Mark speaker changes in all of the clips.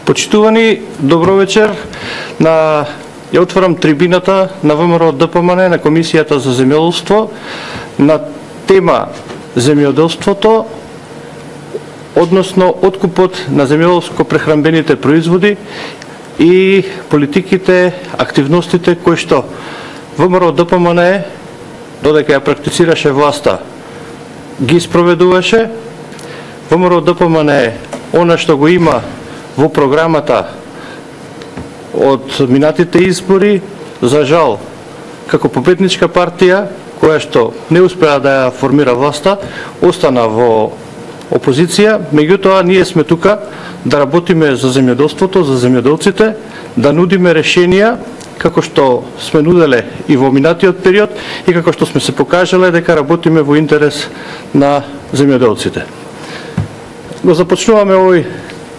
Speaker 1: Почитувани, добро вечер. Ја отварам трибината на ВМРО ДПМН на Комисијата за земјоделство на тема земјоделството, односно откупот на земјоделско-прехранбените производи и политиките, активностите кои што ВМРО ДПМН, додека ја практицираше власта, ги спроведуваше. ВМРО ДПМН она што го има во програмата од минатите избори, за жал, како победничка партија, која што не успеа да ја формира власта, остана во опозиција. Меѓутоа, ние сме тука да работиме за земјоделството, за земјоделците, да нудиме решенија, како што сме нуделе и во минатиот период, и како што сме се покажале дека работиме во интерес на земјоделците. Го започнуваме овој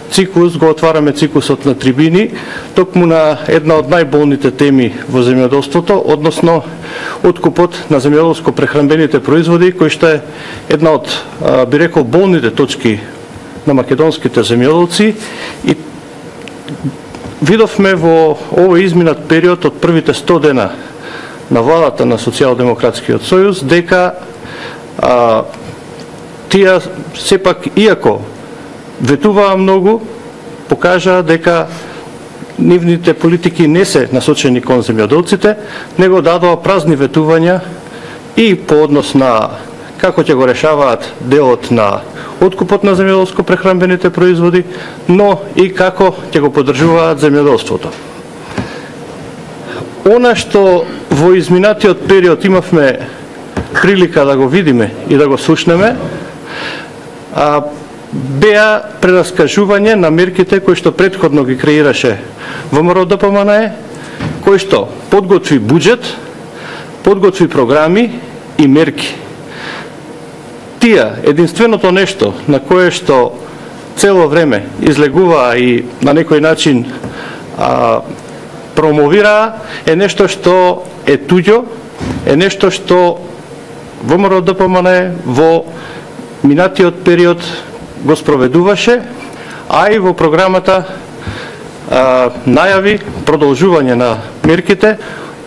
Speaker 1: циклус, го отвараме циклусот на трибини, токму на една од најболните теми во земјоделството, односно откупот на земјоделско-прехранбените производи, кој што е една од, би рекол, болните точки на македонските земјоделци. И видовме во овој изминат период од првите 100 дена на владата на Социјалдемократскиот сојуз, дека тие сепак, иако ветуваа многу, покажаа дека нивните политики не се насочени кон земјоделците, него дадоа празни ветувања и по однос на како ќе го решаваат делот на откупот на земјоделско-прехранбените производи, но и како ќе го поддржуваат земјоделството. Она што во изминатиот период имавме прилика да го видиме и да го слушнеме, беа прераскажување на мерките кои што претходно ги креираше ВМРО ДПМН, кој што подготви буџет, подготви програми и мерки. Тие, единственото нешто на кое што цело време излегуваа и на некој начин промовираа, е нешто што е туѓо, е нешто што ВМРО ДПМН во минатиот период го спроведуваше, а и во програмата најави продолжување на мерките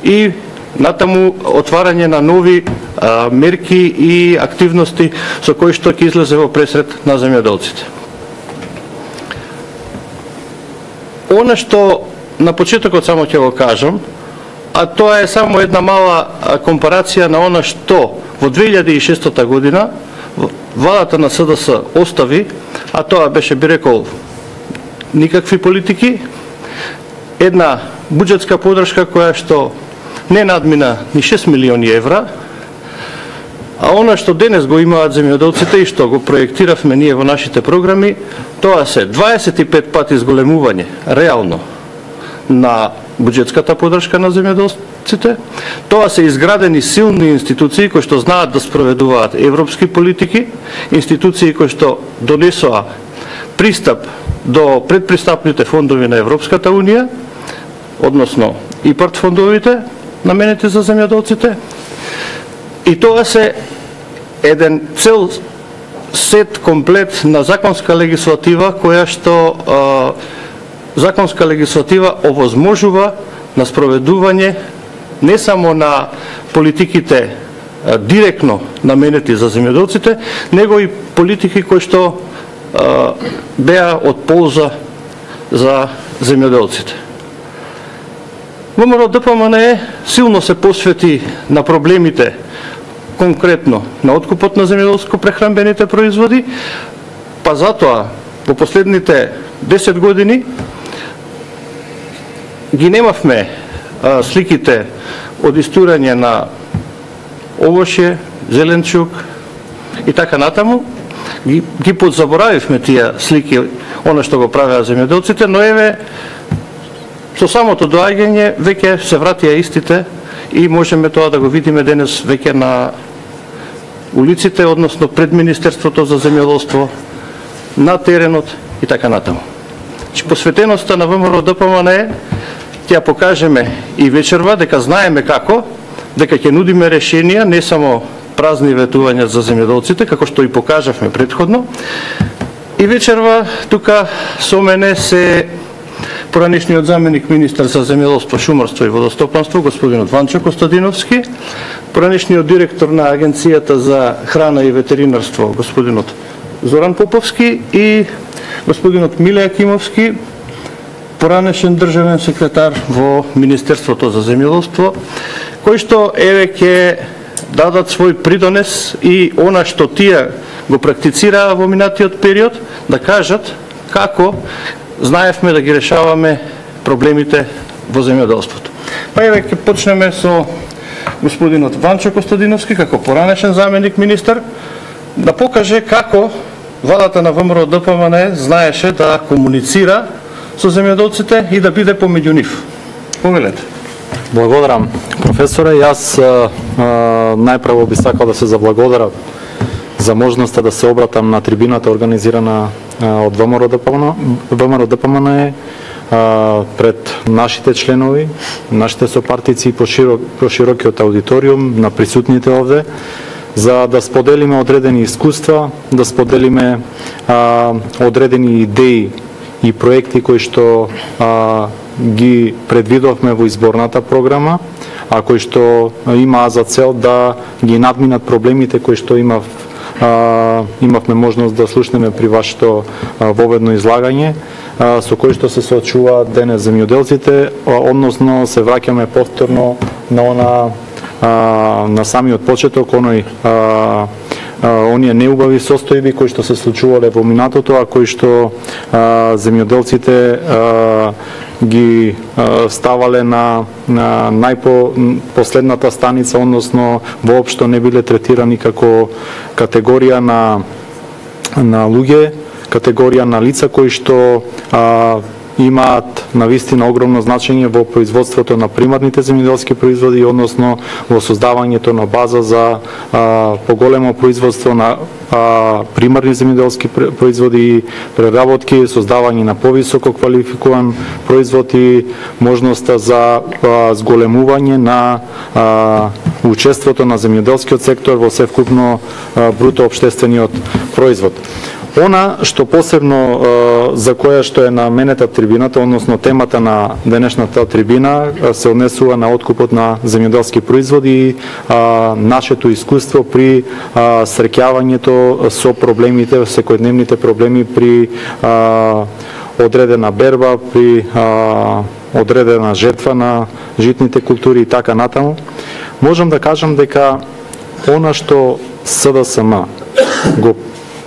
Speaker 1: и натаму отварање на нови мерки и активности со кои што ќе излезе во пресред на земјоделците. Она што на почетокот само ќе го кажам, а тоа е само една мала компарација на она што во 2006 година владата на СДС остави, а тоа беше, би рекол, никакви политики, една буџетска поддршка која што не надмина ни 6 милиони евра, а она што денес го имаат земјоделците и што го проектиравме ние во нашите програми, тоа се 25 пати зголемување реално на буџетската поддршка на земјоделците. Тоа се изградени силни институции кои што знаат да спроведуваат европски политики, институции кои што донесоа пристап до предпристапните фондови на Европската унија, односно ИПАРД фондовите наменети за земјоделците. И тоа се еден цел сет комплет на законска легислатива која што законска легислатива овозможува на спроведување не само на политиките директно наменети за земјоделците, него и политики кои што беа од полза за земјоделците. ВМРО ДПМН силно се посвети на проблемите конкретно на откупот на земјоделско-прехранбените производи, па затоа во последните 10 години ги немавме сликите од истурање на овошје, зеленчук и така натаму. Ги подзаборавивме тие слики, она што го правеа земјоделците, но еве со самото доаѓање веќе се вратија истите и можеме тоа да го видиме денес веќе на улиците, односно пред Министерството за земјоделство, на теренот и така натаму. Посветеноста на ВМРО ДПМН е ќе ја покажеме и вечерва, дека знаеме како, дека ќе нудиме решенија, не само празни ветувања за земјоделците, како што и покажавме претходно. И вечерва тука со мене се поранешниот заменик министар за земјоделство, шумарство и водостопанство господинот Ванчо Костадиновски, поранешниот директор на Агенцијата за храна и ветеринарство господинот Зоран Поповски и господинот Миле Акимовски, поранешен државен секретар во Министерството за земјоделство, кои што еве ќе дадат свој придонес и она што тие го практицираа во минатиот период, да кажат како знаевме да ги решаваме проблемите во земјоделството. Па еве ќе почнеме со господинот Ванчо Костадиновски како поранешен заменик министар да покаже како владата на ВМРО ДПМН знаеше да комуницира со земјоделците и да биде помеѓу нив. Повелете.
Speaker 2: Благодарам, професоре. Јас најпрво би сакал да се заблагодарам за можноста да се обратам на трибината организирана од ВМРО ДПМН пред нашите членови, нашите сопартици и по широкиот аудиториум, на присутните овде, за да споделиме одредени искуства, да споделиме одредени идеи и проекти кои што ги предвидовме во изборната програма, а кои што имаа за цел да ги надминат проблемите кои што имавме можност да слушнеме при вашето воведно излагање, со кои што се соочуваат денес земјоделците, односно се враќаме повторно на самиот почеток, оние неубави состојби кои што се случувале во минатото, а кои што земјоделците ги ставале на најпоследната станица, односно воопшто не биле третирани како категорија на луѓе, категорија на лица кои што имаат навистина огромно значење во производството на примарните земјоделски производи, односно во создавањето на база за поголемо производство на примарни земјоделски производи и преработки, создавање на повисоко квалификуван производ и можноста за зголемување на учеството на земјоделскиот сектор во севкупно бруто општествениот производ. Она што посебно за која што е наменета трибината, односно темата на денешната трибина, се однесува на откупот на земјоделски производи и нашето искуство при среќавањето со проблемите, секојдневните проблеми при одредена берба, при одредена жетва на житните култури и така натаму. Можам да кажам дека она што СДСМ го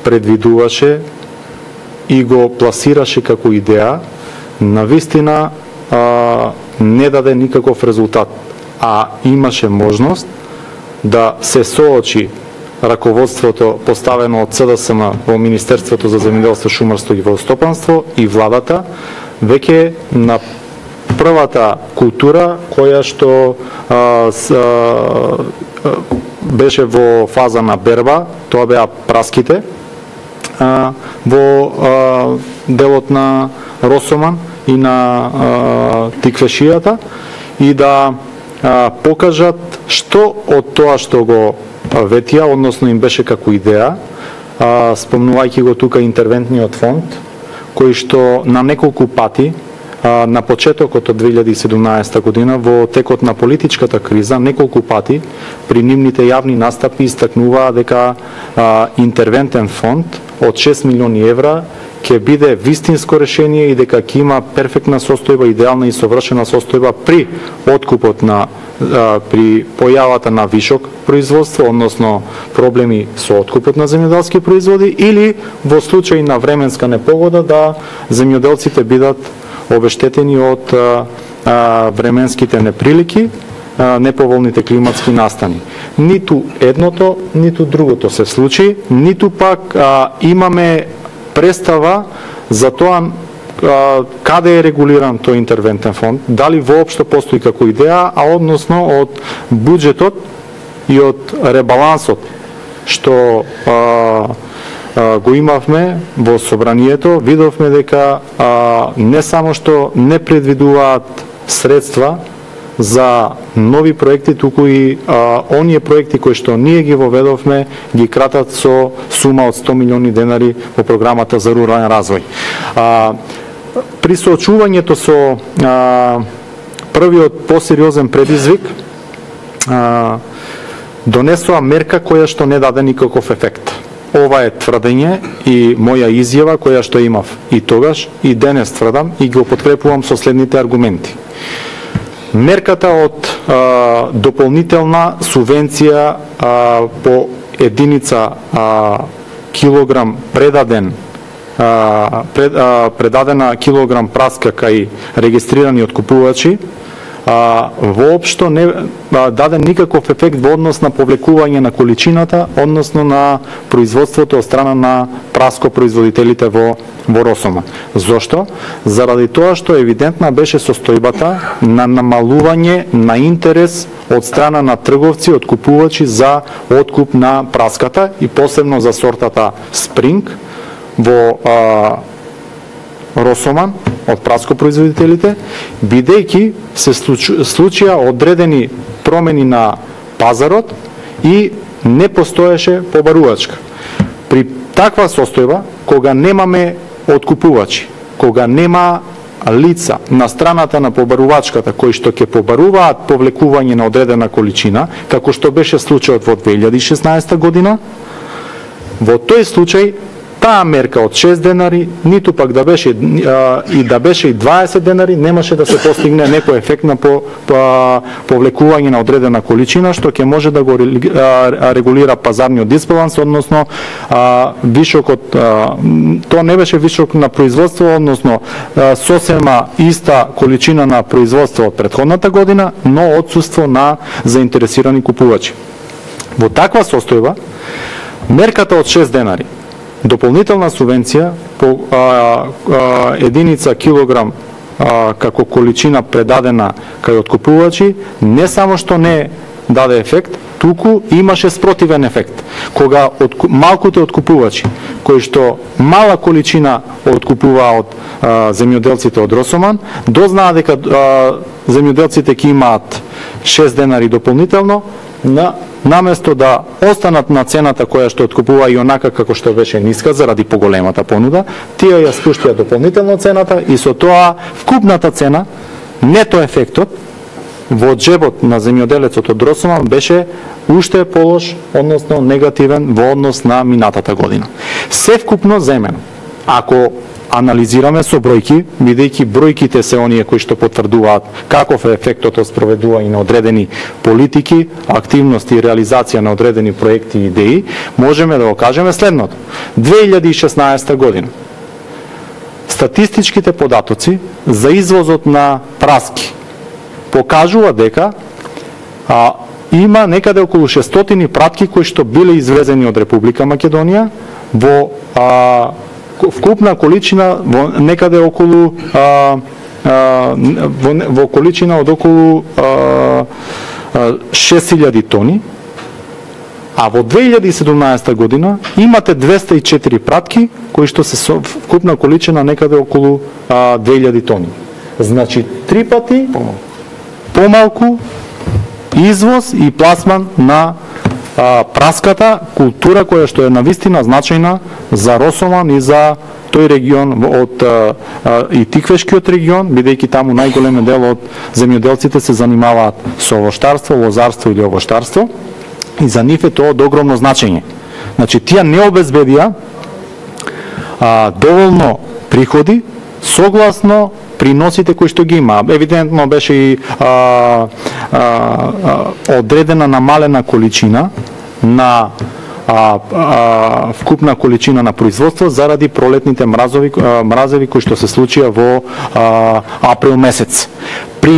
Speaker 2: предвидуваше и го пласираше како идеја, навистина не даде никаков резултат, а имаше можност да се соочи раководството поставено од СДСМ во Министерството за земјоделство, шумарство и водостопанство и владата веќе на првата култура која што беше во фаза на берба, тоа беа праските во делот на Росоман и на Тиквешијата и да покажат што од тоа што го ветија, односно им беше како идеја, спомнувајќи го тука интервентниот фонд, кој што на неколку пати на почетокот од 2017 година во текот на политичката криза неколку пати при нивните јавни настапи истакнуваа дека интервентен фонд од 6 милиони евра ќе биде вистинско решение и дека ќе има перфектна состојба, идеална и совршена состојба при откупот на при појавата на вишок производство, односно проблеми со откупот на земјоделски производи или во случај на временска непогода да земјоделците бидат обештетени од временските неприлики, неповолните климатски настани. Ниту едното, ниту другото се случи, ниту пак имаме представа за тоа каде е регулиран тој интервентен фонд, дали воопшто постои како идеја, а односно од буџетот и од ребалансот што го имавме во собранието, видовме дека не само што не предвидуваат средства за нови проекти, туку и оние проекти кои што ние ги воведовме ги кратат со сума од 100 милиони денари во програмата за рурален развој. при соочувањето со првиот посериозен предизвик донесоа мерка која што не даде никаков ефект. Ова е тврдење и моја изјава која што имав и тогаш и денес тврдам и го подкрепувам со следните аргументи. Мерката од дополнителна субвенција по единица килограм предадена килограм праска кај регистрирани откупувачи воопшто не даде никаков ефект во однос на повлекување на количината, односно на производството од страна на праскопроизводителите во Росома. Зошто? Заради тоа што евидентна беше состојбата на намалување на интерес од страна на трговци, откупувачи за откуп на праската и посебно за сортата Спринг во Росоман од праскопроизводителите, бидејќи се случија одредени промени на пазарот и не постоеше побарувачка. При таква состојба, кога немаме откупувачи, кога нема лица на страната на побарувачката кои што ќе побаруваат повлекување на одредена количина, како што беше случајот во 2016 година, во тој случај таа мерка од 6 денари, ниту пак да беше и 20 денари, немаше да се постигне некој ефект на повлекување на одредена количина, што ќе може да го регулира пазарниот дисбаланс, односно вишокот, тоа не беше вишок на производство, односно сосема иста количина на производство од претходната година, но отсуство на заинтересирани купувачи. Во таква состојба, мерката од 6 денари, дополнителна субвенција по единица килограм како количина предадена кај откупувачи, не само што не даде ефект, туку имаше спротивен ефект. Кога малкуте откупувачи, кои што мала количина откупуваа од земјоделците од Росоман, дознаа дека земјоделците ќе имаат 6 денари дополнително, наместо да останат на цената која што откупува и онака како што беше ниска заради поголемата понуда, тие ја спуштија дополнително цената и со тоа вкупната цена, нето ефектот во джебот на земјоделецот од Росоман беше уште полош, односно негативен во однос на минатата година. Се вкупно земено, ако анализираме со бројки, бидејќи бројките се оние кои што потврдуваат каков е ефектот од спроведување на одредени политики, активности и реализација на одредени проекти и идеи, можеме да го кажеме следното. 2016 година статистичките податоци за извозот на праски покажува дека има некаде околу 600 пратки кои што биле извезени од Република Македонија во вкупна количина во некаде околу во количина од околу 6000 тони, а во 2017 година имате 204 пратки кои што се со вкупна количина некаде околу 2000 тони. Значи 3 пати помалку извоз и пласман на праската култура која што е навистина значајна за Росоман и за тој регион од и Тиквешкиот регион, бидејќи таму најголемиот дел од земјоделците се занимаваат со овоштарство, лозарство или овоштарство и за нив е тоа од огромно значење. Значи тие не обезбедија доволно приходи согласно приносите кои што ги има. Евидентно беше и одредена намалена количина на вкупна количина на производство заради пролетните мразеви кои што се случија во април месец. При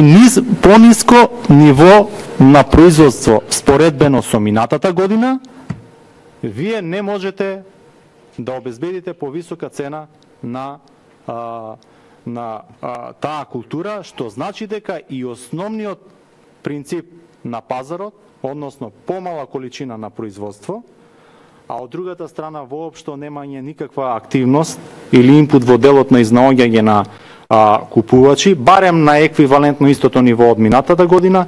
Speaker 2: пониско ниво на производство споредбено со минатата година, вие не можете да обезбедите повисока цена на таа култура, што значи дека и основниот принцип на пазарот, односно помала количина на производство, а од другата страна воопшто немање никаква активност или инпут во делот на изнаоѓање на купувачи, барем на еквивалентно истото ниво од минатата година,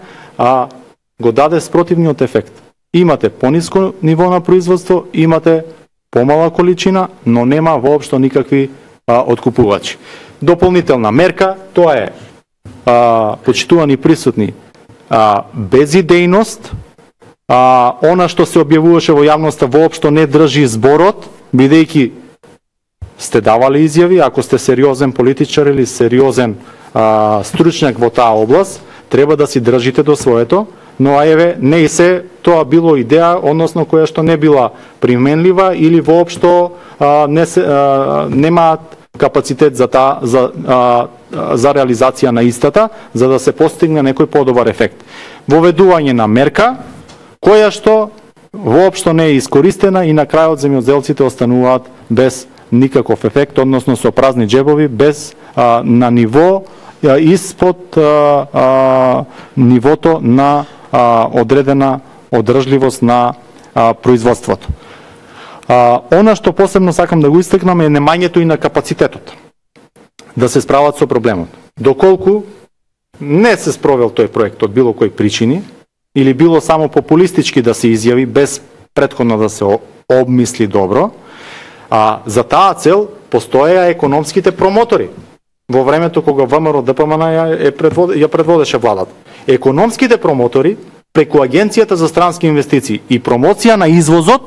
Speaker 2: го даде спротивниот ефект. Имате пониско ниво на производство, имате помала количина, но нема воопшто никакви откупувачи. дополнителна мерка, тоа е почитувани присутни безидејност, она што се објавуваше во јавноста воопшто не држи зборот, бидејќи сте давали изјави, ако сте сериозен политичар или сериозен стручњак во таа област, треба да си држите до своето, но еве не и се тоа било идеја, односно која што не била применлива или воопшто немаат капацитет за реализација на истата, за да се постигне некој подобар ефект. Воведување на мерка која што воопшто не е искористена и на крајот земјоделците остануваат без никаков ефект, односно со празни џебови, без на ниво испод нивото на одредена одржливост на производството. Она што посебно сакам да го истакнам е немањето и на капацитетот да се справат со проблемот. Доколку не се спровел тој проект од било кои причини или било само популистички да се изјави без претходно да се обмисли добро, за таа цел постоеа економските промотори во времето кога ВМРО ДПМН ја предводеше владата. Економските промотори преку Агенцијата за странски инвестиции и промоција на извозот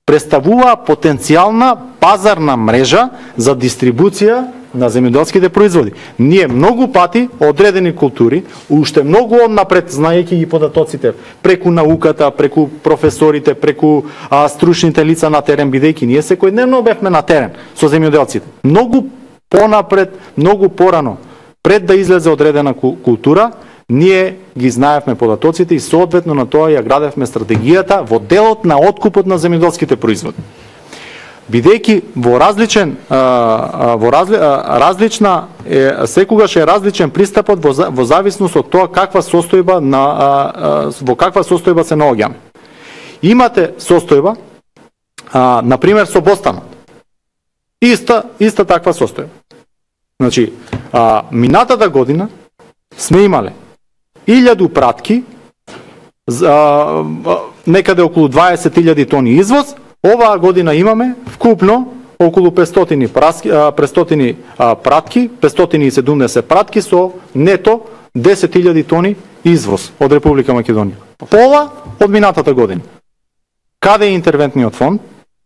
Speaker 2: представуваа потенцијална пазарна мрежа за дистрибуција на земјоделските производи. Ние многу пати одредени култури, уште многу однапред, знаејќи ги податоците, преку науката, преку професорите, преку стручните лица на терен, бидејќи ние секојдневно бевме на терен со земјоделците. Многу понапред, многу порано, пред да излезе одредена култура, ние ги знаевме податоците и соодветно на тоа ја градевме стратегијата во делот на откупот на земјоделските производи. Бидејќи секогаш е различен пристапот во зависност од тоа во каква состојба се наоѓаме. Имате состојба, например со бостанот. Иста таква состојба. Значи, минатата година сме имале 1000 пратки, некаде околу 20.000 тони извоз. Оваа година имаме вкупно околу 500 пратки, 570 пратки со нето 10.000 тони извоз од Република Македонија. Пола од минатата година. Каде е интервентниот фонд,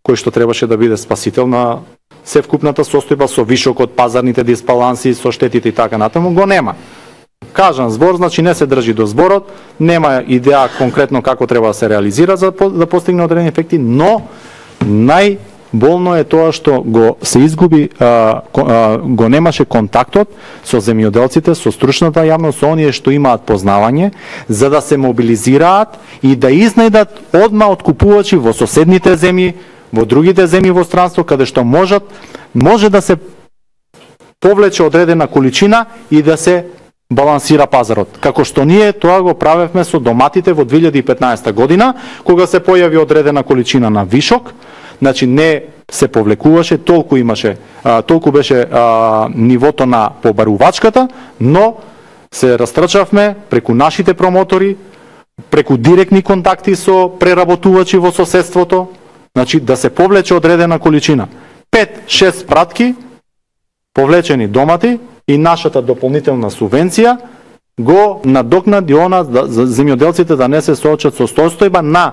Speaker 2: кој што требаше да биде спасител на севкупната состојба со вишокот, пазарните дисбаланси, со штетите и така натаму, го нема. Кажан збор, значи не се држи до зборот, нема идеја конкретно како треба да се реализира за да постигне одредени ефекти, но најболно е тоа што го се изгуби, го немаше контактот со земјоделците, со стручната јавност, со оние што имаат познавање, за да се мобилизираат и да изнајдат одма откупувачи во соседните земји, во другите земји во странство, каде што може да се повлече одредена количина и да се балансира пазарот. Како што ние тоа го правевме со доматите во 2015 година, кога се појави одредена количина на вишок, значи не се повлекуваше, толку беше нивото на побарувачката, но се растрчавме преку нашите промотори, преку директни контакти со преработувачи во соседството, значи да се повлече одредена количина. 5-6 пратки повлечени домати и нашата дополнителна субвенција го надокнади она за земјоделците да не се соочат со состојба на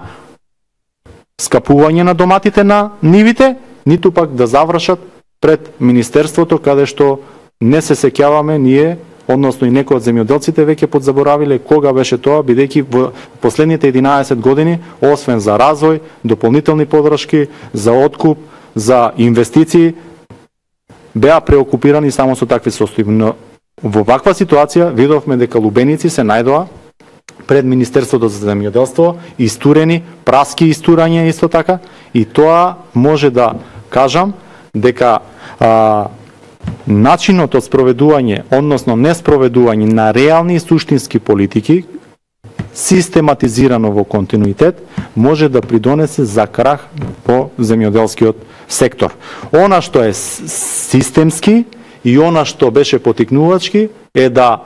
Speaker 2: скапување на доматите на нивите, ниту пак да завршат пред Министерството, каде што не се сеќаваме ние, односно и некои од земјоделците веќе подзаборавиле кога беше тоа, бидејќи во последните 11 години, освен за развој, дополнителни подршки, за откуп, за инвестиции, беа преокупирани само со такви состојби. Но во ваква ситуација видовме дека лубеници се најдоа пред Министерството за земјоделство, истурени, праски истурање исто така, и тоа може да кажам дека начинот од спроведување, односно неспроведување на реални и суштински политики, систематизирано во континуитет, може да придонесе за крах по земјоделскиот сектор. Она што е системски и она што беше потикнувачки е да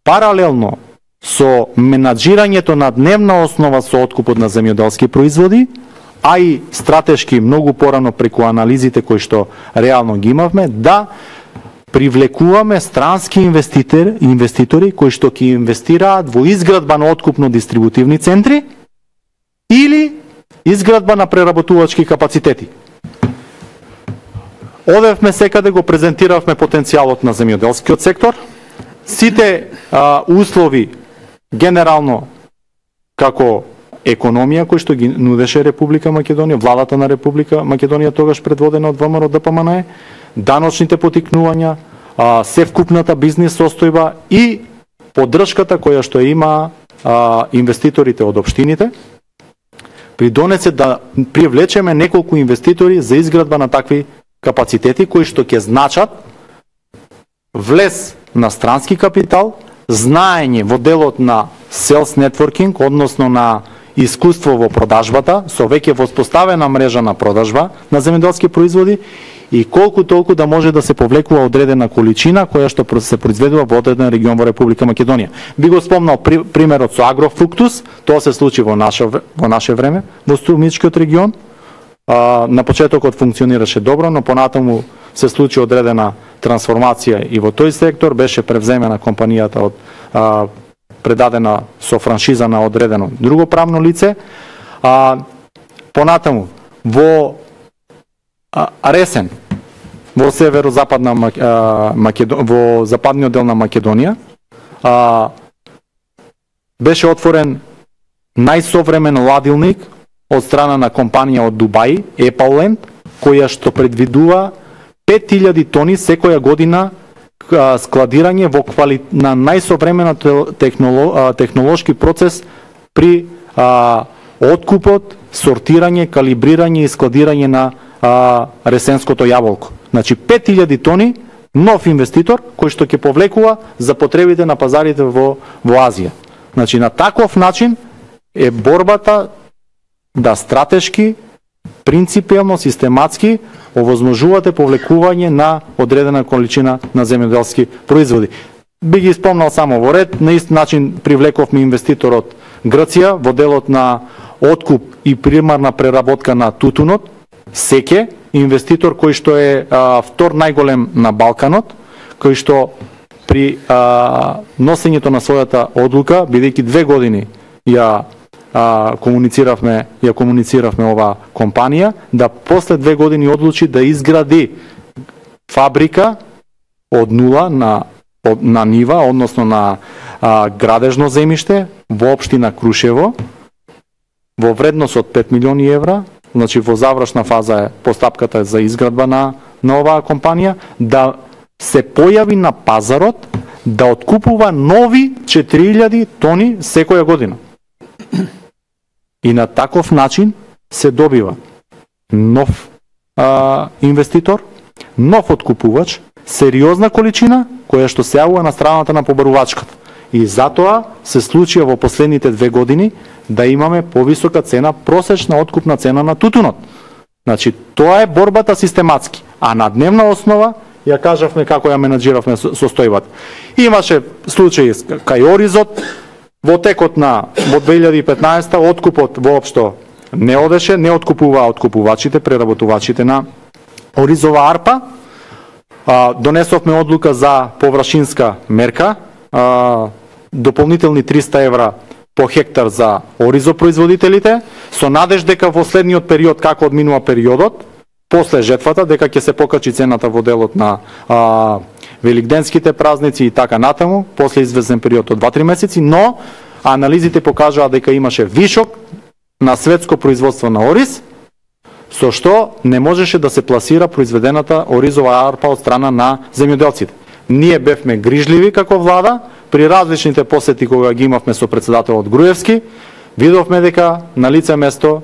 Speaker 2: паралелно со менаџирањето на дневна основа со откупот на земјоделски производи, а и стратешки многу порано преку анализите кои што реално ги имавме, да привлекуваме странски инвеститори кои што ќе инвестираат во изградба на откупно-дистрибутивни центри или изградба на преработувачки капацитети. Одевме секаде, го презентиравме потенцијалот на земјоделскиот сектор, сите услови генерално како економија кои што ги нудеше Република Македонија, владата на Република Македонија тогаш предводена од ВМРО ДПМНЕ, даночните потикнувања, севкупната бизнис состојба и поддршката која што има инвеститорите од општините, придонесе да привлечеме неколку инвеститори за изградба на такви капацитети кои што ќе значат влез на странски капитал, знаење во делот на sales networking, односно на искуство во продажбата, со веќе воспоставена мрежа на продажба на земјоделски производи и колку толку да може да се повлекува одредена количина која што се произведува во одреден регион во Република Македонија. Би го спомнал примерот со Агрофруктус, тоа се случи во наше време во Струмичкиот регион. На почетокот функционираше добро, но понатаму се случи одредена трансформација и во тој сектор, беше превземена компанијата од предадена со франшиза на одредено друго правно лице. Понатаму во Ресен, во северозападна во западниот дел на Македонија, беше отворен најсовремен ладилник од страна на компанија од Дубај, Epauland, која што предвидува 5000 тони секоја година складирање на најсовременот технолошки процес при откупот, сортирање, калибрирање и складирање на ресенското јаболко. Значи 5000 тони нов инвеститор кој што ќе повлекува за потребите на пазарите во Азија. Значи на таков начин е борбата да стратешки, принципиелно, систематски овозможувате повлекување на одредена количина на земјоделски производи. Би ги спомнал само во ред, на ист начин привлековме инвеститор од Грција во делот на откуп и примарна преработка на тутунот, Секе, инвеститор кој што е втор најголем на Балканот, кој што при носењето на својата одлука, бидејќи 2 години ја комунициравме ова компанија, да после 2 години одлучи да изгради фабрика од нула на нива, односно на градежно земјиште во општина Крушево, во вредност од 5 милиони евра, значи во завршна фаза е постапката за изградба на оваа компанија, да се појави на пазарот, да откупува нови 4000 тони секоја година. И на таков начин се добива нов инвеститор, нов откупувач, сериозна количина која што се јавува на страната на побарувачката. И затоа се случија во последните 2 години да имаме повисока цена, просечна откупна цена на тутунот. Значи, тоа е борбата систематски. А на дневна основа ја кажавме како ја менаџиравме состојбата. Имаше случаи кај Оризот, во текот на во 2015 откупот воопшто не одеше, не откупуваа откупувачите, преработувачите на оризова арпа. Донесовме одлука за површинска мерка, дополнителни 300 евра по хектар за оризопроизводителите, со надеж дека во следниот период, како одминува периодот, после жетвата, дека ќе се покачи цената во делот на великденските празници и така натаму, после известен период од 2-3 месеци, но анализите покажаа дека имаше вишок на светско производство на ориз, со што не можеше да се пласира произведената оризова арпа од страна на земјоделците. Ние бевме грижливи како влада, при различните посети кога ги имавме со председателот Груевски, видовме дека на лице место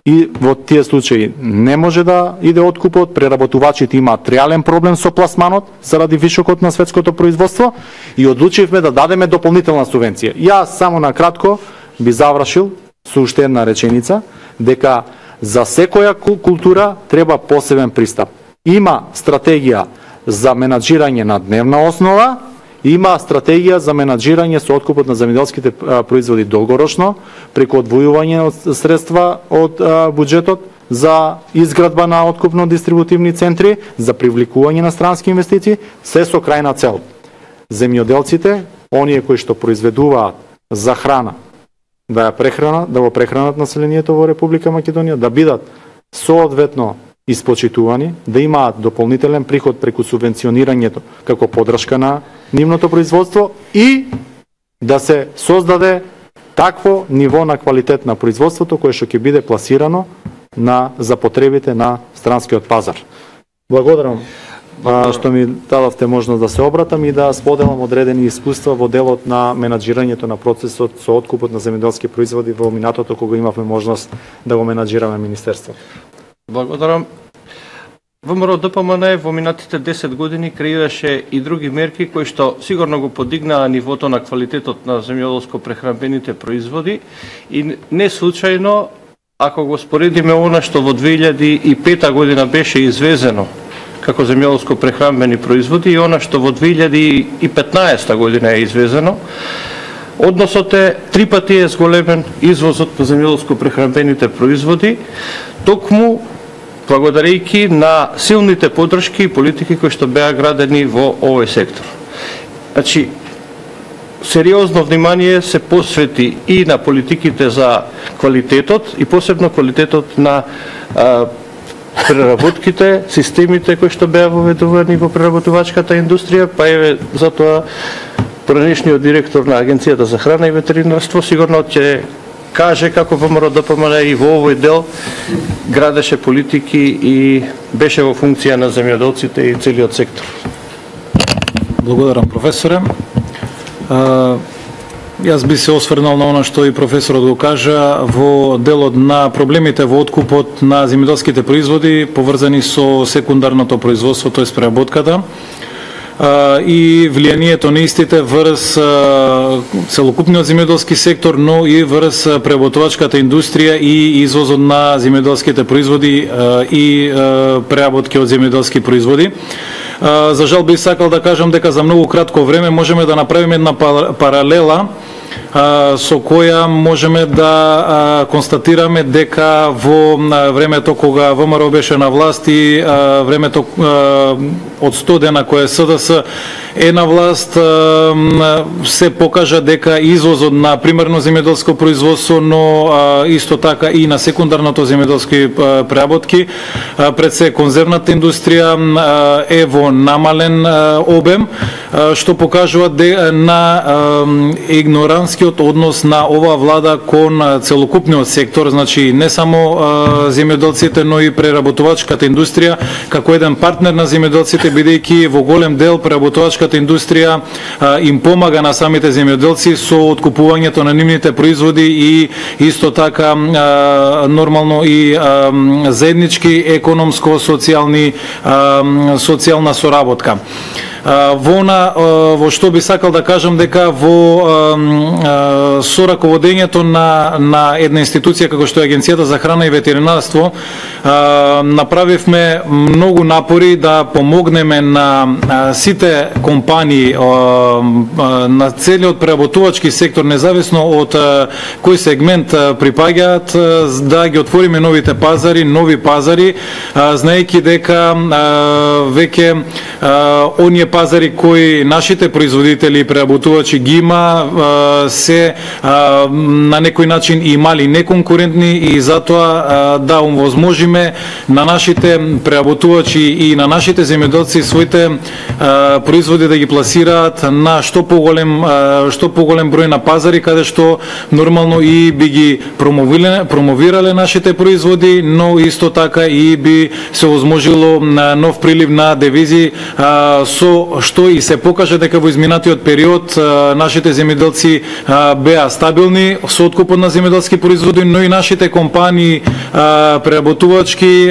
Speaker 2: и во тие случаи не може да иде откупот, преработувачите имаат реален проблем со пласманот заради вишокот на светското производство и одлучивме да дадеме дополнителна субвенција. Јас само на кратко би завршил со уште една реченица, дека за секоја култура треба посебен пристап. Има стратегија за менаџирање на дневна основа, има стратегија за менаџирање со откупот на земјоделските производи долгорочно, преку одвојување од средства од буџетот за изградба на откупно-дистрибутивни центри, за привлекување на странски инвестиции, се со крајна цел. Земјоделците, оние кои што произведуваат за храна, да го прехранат населението во Република Македонија, да бидат соодветно испочитувани, да имаат дополнителен приход преку субвенционирањето како поддршка на нивното производство и да се создаде такво ниво на квалитет на производството кое што ќе биде пласирано за потребите на странскиот пазар. Благодарам што ми дадовте можност да се обратам и да споделам одредени искуства во делот на менаџирањето на процесот со откупот на земјоделски производи во минатото кога имавме можност да го менаџираме министерството.
Speaker 1: Благодарам. ВМРО ДПМН во минатите 10 години креираше и други мерки кои што сигурно го подигнаа нивото на квалитетот на земјоделско-прехранбените производи и не случајно, ако го споредиме она што во 2005 година беше извезено како земјоделско-прехранбени производи и она што во 2015 година е извезено, односот е 3 пати е зголемен извозот на земјоделско-прехранбените производи, токму благодарејќи на силните поддршки и политики кои што беа градени во овој сектор. Значи, сериозно внимание се посвети и на политиките за квалитетот и посебно квалитетот на преработките, системите кои што беа воведувани во преработувачката индустрија, па еве затоа поранешниот директор на Агенцијата за храна и ветеринарство сигурно ќе каже како ВМРО ДПМН и во овој дел градеше политики и беше во функција на земјоделците и целиот сектор.
Speaker 3: Благодарам, професоре. Јас би се осврнал на она што и професорот го кажа во делот на проблемите во откупот на земјоделските производи поврзани со секундарното производство, тоест преработката, и влијанието на истите врз целокупниот земјоделски сектор, но и врз преработувачката индустрија и извозот на земјоделските производи и преработки од земјоделски производи. За жал би сакал да кажам дека за многу кратко време можеме да направиме една паралела со која можеме да констатираме дека во времето кога ВМРО беше на власт и времето од 100 дена кое СДС е на власт, се покажа дека извозот на примерно земјоделско производство, но исто така и на секундарното земјоделски преработки, пред се конзервната индустрија е во намален обем, што покажува на игноранскиот однос на оваа влада кон целокупниот сектор, значи не само земјоделците, но и преработувачката индустрија како еден партнер на земјоделците, бидејќи во голем дел преработувачката индустрија им помага на самите земјоделци со откупувањето на нивните производи и исто така нормално и заеднички економско-социјална соработка. Во што би сакал да кажам дека во сораководењето на една институција како што е Агенцијата за храна и ветеринарство направивме многу напори да помогнеме на сите компании, на целиот преработувачки сектор, независно од кој сегмент припаѓаат, да ги отвориме новите пазари, нови пазари, знаејќи дека веќе оние пазари кои нашите производители и преработувачи ги има се на некој начин и мали неконкурентни и затоа да овозможиме на нашите преработувачи и на нашите земјоделци своите производи да ги пласираат на што поголем број на пазари, каде што нормално и би ги промовирале нашите производи, но исто така и би се овозможило нов прилив на девизи, со што и се покажа дека во изминатиот период нашите земјоделци беа стабилни со откупот на земјоделски производи, но и нашите компании преработувачки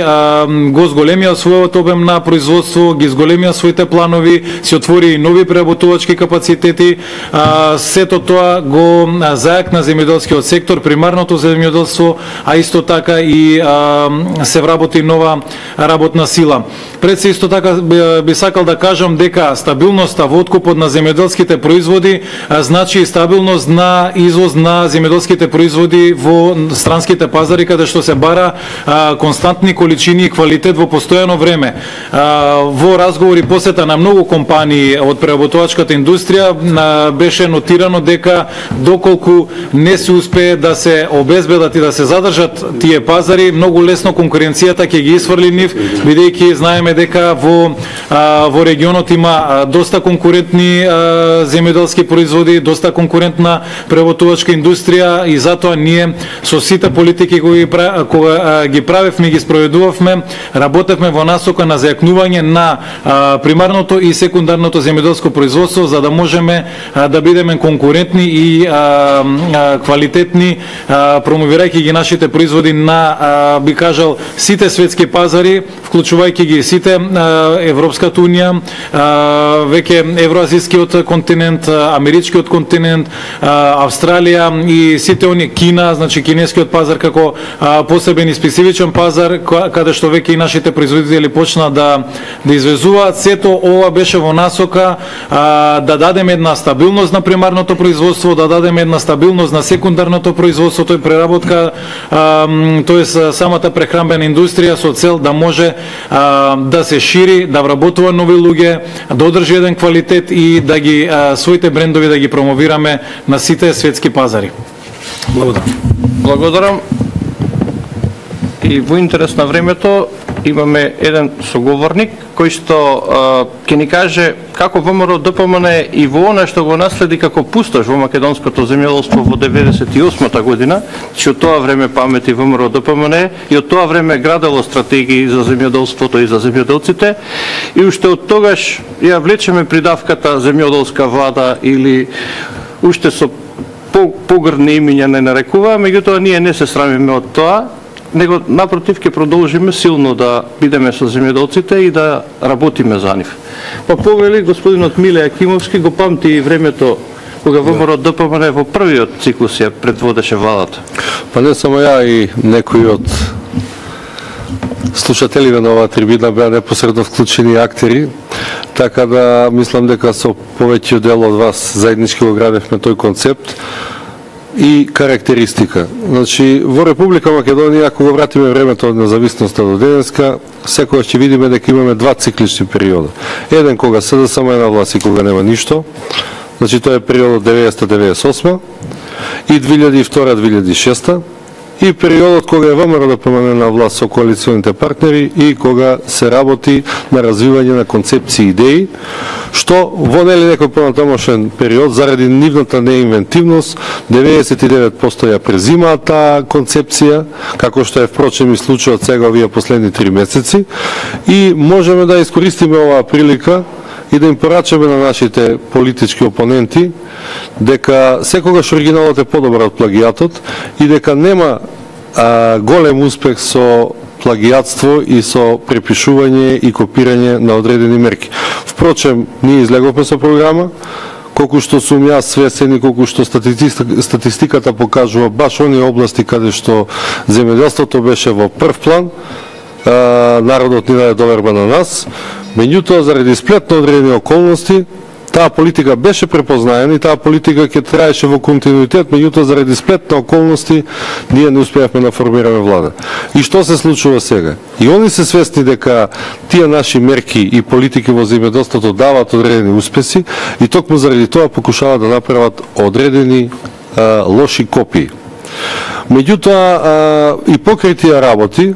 Speaker 3: го зголемија својот обем на производство, ги зголемија своите планови, се отвори нови преработувачки капацитети, сето тоа го зајакна земјоделскиот сектор, примарното земјоделство, а исто така и се вработи нова нова работна сила. Пред се исто така би сакал да кажам дека стабилноста во откупот на земјоделските производи значи и стабилност на извоз на земјоделските производи во странските пазари, каде што се бара константни количини и квалитет во постојано време. Во разговори посета на многу компании од преработувачката индустрија беше нотирано дека доколку не се успее да се обезбедат и да се задржат тие пазари, многу лесно конкуренцијата ќе ги исфрли нив, бидејќи знаеме дека во регионот има доста конкурентни земјоделски производи, доста конкурентна преработувачка индустрија и затоа ние со сите политики кога ги правевме и ги спроведувавме, работевме во насока на зајакнување на примарното и секундарното земјоделско производство, за да можеме да бидеме конкурентни и квалитетни, промовирајќи ги нашите производи на, би кажал, сите светски пазари, вклучувајќи ги сите Европската унија, веќе евроазискиот континент, америчкиот континент, Австралија и сите они, Кина, значи кинескиот пазар како посебен и специфичен пазар, каде што веќе и нашите производители почна да извезуваат. Сето ова беше во насока да дадеме една стабилност на примарното производство, да дадеме една стабилност на секундарното производство, тој преработка, тоест самата прехранбена индустрија, со цел да може да се шири, да вработува нови луѓе, да одржи еден квалитет и да ги своите брендови да ги промовираме на сите светски пазари. Благодарам.
Speaker 1: Благодарам. И во интерес на времето имаме еден соговорник кој што ќе ни каже како ВМРО ДПМН и во она што го наследи како пустош во македонското земјоделство во 98-та година, че од тоа време памети ВМРО ДПМН и од тоа време градело стратегии за земјоделството и за земјоделците и уште од тогаш ја влечеме придавката земјоделска влада или уште со погрдни имиња не нарекува, меѓутоа ние не се срамиме од тоа, него напротив ќе продолжиме силно да бидеме со земјоделците и да работиме за нив. Па повели господинот Миле Акимовски го памти и времето кога ВМРО ДПМН во првиот циклус ја предводеше владата.
Speaker 4: Па не само ја и некои од слушателиве на оваа трибина беа непосредно вклучени актери, така да мислам дека со повеќиот дел од вас заеднички го градевме тој концепт и карактеристика. Значи, во Република Македонија, ако го вратиме времето од независноста до денеска, секогаш ќе видиме дека имаме два циклични периода. Еден кога СДСМ е на власт и кога нема ништо, значи тоа е периодот 90-98 и 2002-2006 и периодот кога е ВМРО ДПМН на власт со коалиционите партнери и кога се работи на развивање на концепции и идеи, што во нели некој понатамошен период заради нивната неинвентивност 99% ја презимаат таа концепција, како што е впрочем и случајот сега овие последни 3 месеци, и можеме да искористиме оваа прилика и да им порачаме на нашите политички опоненти дека секогаш оригиналот е подобар од плагијатот и дека нема голем успех со плагијатство и со препишување и копирање на одредени мерки. Впрочем, ние излеговме со програма, колку што сум јас свесен и колку што статистиката покажува баш оние области каде што земјоделството беше во прв план, народот ни даде доверба на нас, меѓутоа заради сплет на одредени околности таа политика беше препознаена и таа политика ќе траеше во континуитет, меѓутоа заради сплет на околности ние не успеавме да формираме влада. И што се случува сега? И они се свесни дека тие наши мерки и политики во земјоделството даваат одредени успеси и токму заради тоа покушаваат да направат одредени лоши копии. Меѓутоа и покрај тие работи,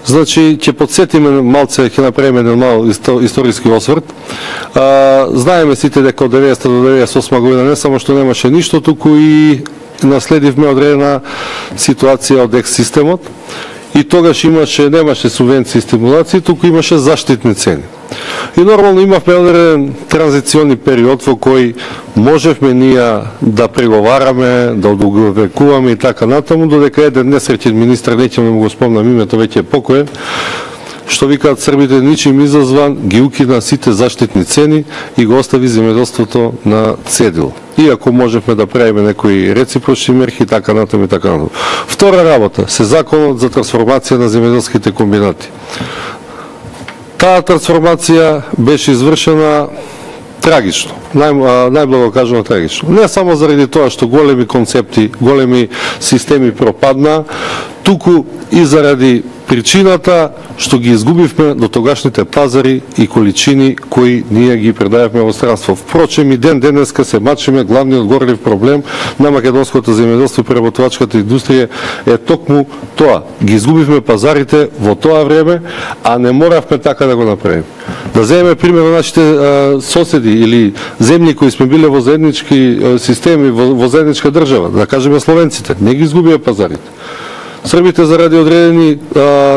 Speaker 4: значи, ќе подсетиме малце, ќе направиме еден мал историски осврт. Знаеме сите дека од 90 до 98 година не само што немаше ништо, туку и наследивме одредена ситуација од екс-системот и тогаш немаше субвенции и стимулации, туку имаше заштитни цени. И нормално имавме одреден транзициони период во кој можевме ние да преговараме, да одговекуваме и така натаму, додека еден несреќен министар, неќем да му го спомнам името, веќе е покоен, што викаат србите, ничим изазван, ги укина сите заштитни цени и го остави земјоделството на цедил. Иако можевме да правиме некои реципрочни мерки, така натаму и така натаму. Втора работа, се законот за трансформација на земјоделските комбинати. Таа трансформација беше извршена трагично, најблаго кажано трагично. Не само заради тоа што големи концепти, големи системи пропадна, туку и заради причината што ги изгубивме до тогашните пазари и количини кои ние ги предававме во странство. Впрочем, и денеска се мачиме, главниот горлив проблем на македонското земјоделство и преработувачката индустрија е токму тоа. Ги изгубивме пазарите во тоа време, а не моравме така да го направиме. Да земеме пример на нашите соседи или земји кои сме биле во заеднички системи, во заедничка држава, да кажеме словенците, не ги изгубија пазарите. Србите заради одредени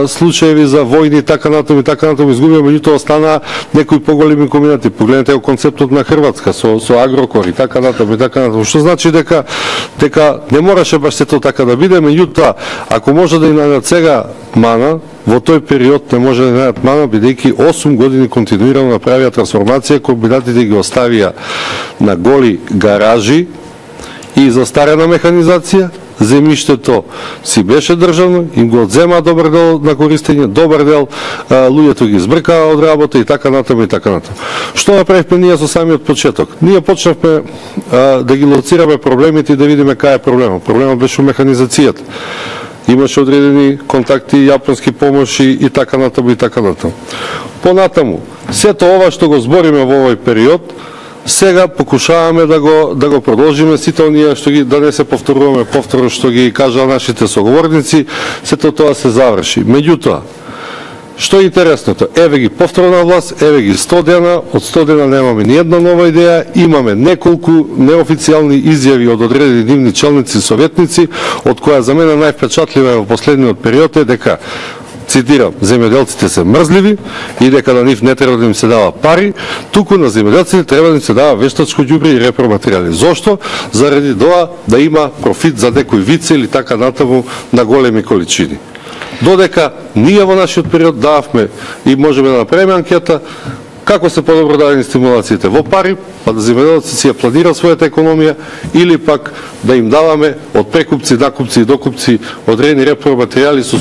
Speaker 4: случаеви за војни, така натаму изгубија, меѓутоа остана некои поголеми комбинати. Погледнете го концептот на Хрватска со Агрокор и така натаму. Што значи дека не мораше баш сето така да биде, меѓутоа ако може да и најдат сега мана, во тој период не може да најдат мана, бидејќи 8 години континуирано направија трансформација, комбинатите ги оставија на голи гаражи и застарена механизација. Земјиштето си беше државно, им го одзема добар дел на користење, добар дел луѓето ги избркаа од работа и така натаму и така натаму. Што направивме ние со самиот почеток? Ние почнавме да ги лоцираме проблемите и да видиме кај е проблемот. Проблемот беше механизацијата. Имаше одредени контакти, јапонски помоши и така натаму и така натаму. Понатаму, сето ова што го збориме во овој период, сега покушаваме да го продолжиме сите оние што ги, да не се повторуваме повторно што ги кажаа нашите соговорници, сето тоа се заврши. Меѓутоа, што е интересното, еве ги повторна власт, еве ги 100 дена, од 100 дена немаме ни една нова идеја, имаме неколку неофицијални изјави од одредени нивни челници и советници, од која за мене највпечатлива во последниот период е дека, цитирам, земјоделците се мрзливи и дека на нив не треба да им се дава пари, туку на земјоделците треба да им се дава вештачко ѓубре и репроматеријали. Зошто? Заради тоа да има профит за некој вице или така натаму на големи количини. Додека ние во нашиот период дававме и можеме да направиме анкета како се подобро дадени стимулациите во пари, па да земјоделците си ја планира својата економија или пак да им даваме од прекупци, накупци и докупци одредени репроматеријали со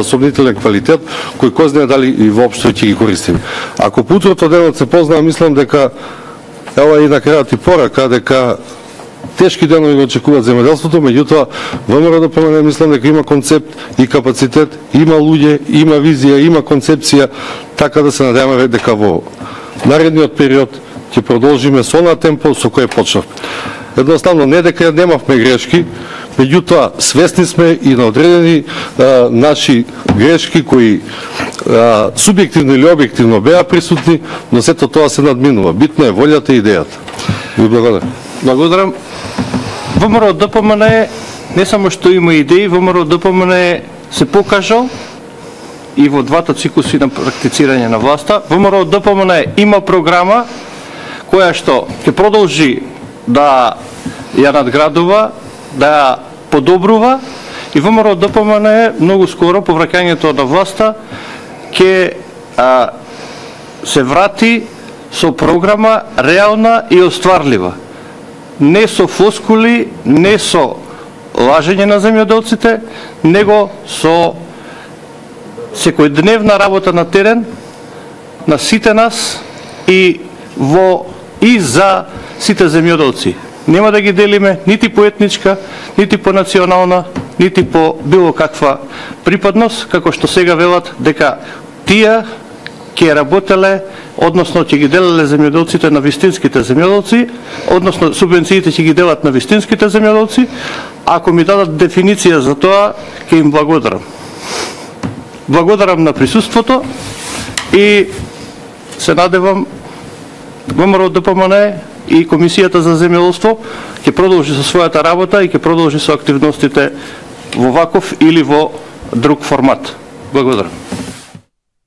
Speaker 4: сомнителен квалитет кои кој знае дали и воопшто ќе ги користиме. Ако по утрото денот се познава, мислам дека ова и на крајот и порака дека тешки денови го очекуваат земјоделството, меѓутоа ВМРО ДПМНЕ мислам дека има концепт и капацитет, има луѓе, има визија, има концепција, така да се надеваме дека во наредниот период ќе продолжиме со на темпо со кој почнавме. Едноставно не дека немавме грешки, меѓутоа свесни сме и на одредени наши грешки кои субјективно или објективно беа присутни, но сето тоа се надминува. Битно е волјата и идејата. Ви благодарам.
Speaker 1: Благодарам. ВМРО ДПМНЕ не само што има идеи, ВМРО ДПМНЕ се покажал и во двата циклуси на практицирање на власта. ВМРО ДПМНЕ има програма која што ќе продолжи да ја надградува, да ја подобрува и ВМРО ДПМНЕ многу скоро по враќањето на власта ќе се врати со програма реална и остварлива. Не со флоскули, не со лажење на земјоделците, него со секојдневна работа на терен на сите нас и за сите земјоделци. Нема да ги делиме нити по етничка, нити по национална, нити по било каква припадност, како што сега велат дека тие ќе работеле, односно ќе ги делеле земјоделците на вистинските земјоделци, односно субвенциите ќе ги делат на вистинските земјоделци. Ако ми дадат дефиниција за тоа, ќе им благодарам. Благодарам на присуството и се надевам ВМРО ДПМНЕ и Комисијата за земјоделство ќе продолжи со својата работа и ќе продолжи со активностите во ваков или во друг формат. Благодарам.